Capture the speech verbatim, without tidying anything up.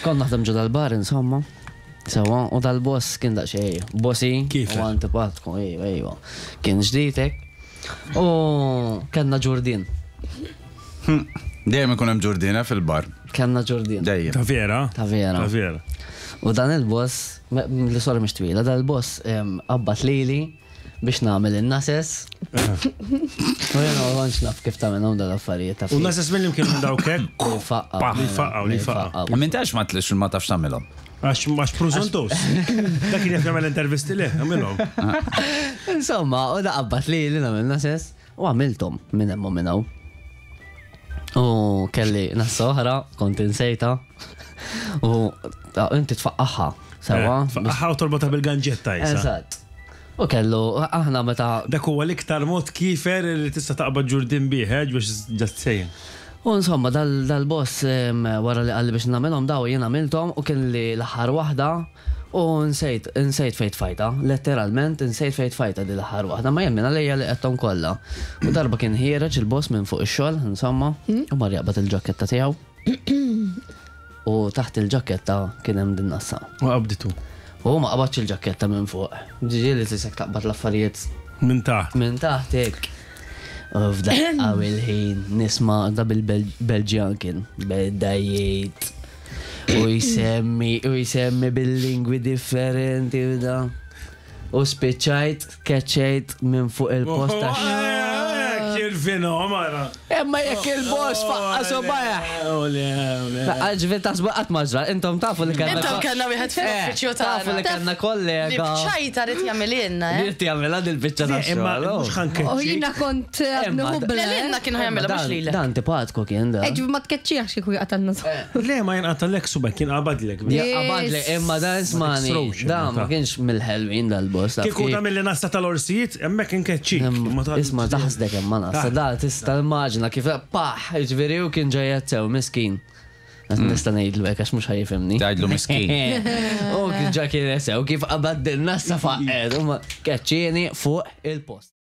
Kont naħdem ġo dal-bar, insomma. Sewa, u dal-boss kien daqsxejn bossy. Kif? U antipatku, ejwa, ejwa. Kien ġdidek. U kellna ġurdien. Dejjem ikun hemm ġurdina fil-bar. Kellna ġurdien. Dejjem. Ta' vera? Ta' vera. Ta' vera. U dan il-boss, me- l-istorja mhix twila, dan il-boss em, qabbat lili biex nagħmel in-nases. U jena ma kontx naf kif tagħmelhom dal-affarijiet ta' U nases mill kienu dawk hekk. Li jfaqqaw. Li jfaqqaw, li jfaqqaw. Minn tax ma tlix ma tafx tagħmilhom. Għax għax prużontus. Dak kien jaf jagħmel intervisti le, għamilhom. Insomma, u da qabbat lili nagħmel nases u għamilthom minn hemm u minn hawn. U kelli nassa oħra, kont insejta. U ta' inti tfaqqaħħa, sewa. Faqqaħa u torbota bil-ganġetta jisa. Eżatt. U kellu, aħna meta Dak huwa l-iktar mod kifer li tista' taqbad ġurdin bih, eh, biex just saying. U insomma, dal- dal-boss em, wara li qalli biex nagħmilhom daw jien għamilthom u kien li l-aħħar waħda u nsejt nsejt fejn tfajta, letteralment nsejt fejn tfajta di l-aħħar waħda, ma jemmen għalija li qedthom kollha. U darba kien ħiereġ il-boss minn fuq ix-xogħol, insomma, u mar jaqbad il-ġaketta tiegħu. U taħt il-ġaketta kien hemm din nassa. U qabditu. U ma qabadx il-ġaketta minn fuq. Ġiġi li tisek taqbad l-affarijiet Minn taħt. minn taħt hekk. U f'daqqa il-ħin nisma' da bil-Belġjan kien beda jgħid u jsemmi u jsemmi bil-lingwi differenti u da. U spiċċajt, keċċejt minn fuq il-post għax. Kirfino, mara. Imma jekk il-boss faqqa subajh. Ole, ole. Ġifieri taħsbu qatt ma ġra, intom tafu li kellna. Intom kellna wieħed fil-uffiċċju Eh, Tafu li tagħna. kellna Li kollega. bċajta rid jagħmililna, eh? Li jagħmilha dil-biċċa ta' Imma xogħol. mhux U ħankeċċi. jina kont Emma, għadnu Le lilna kien ħajamilha mhux lilek. Dan antipatku kien da. Eġ, ma tkeċċiħx kieku jaqtalna. Le, ma jinqatalek subek, kien qabadlek. Ja, qabadli, imma dan ismani, Ma dan ma kienx mill-ħelwin dal-boss. taf Kieku kif. ta' mill nassa tal-orsijiet, hemmhekk inkeċċik. Imma- Ma ta' Isma taħsdek imma nassa, da tista' immaġina kif paħ, ġifieri u kien ġejja sew miskin. Nista' ngħidlu hekk għax mhux ħa jifhimni. Tgħidlu miskin. U kien ġa kien sew kif qabad din nassa faqed, u ma keċċieni fuq il-post.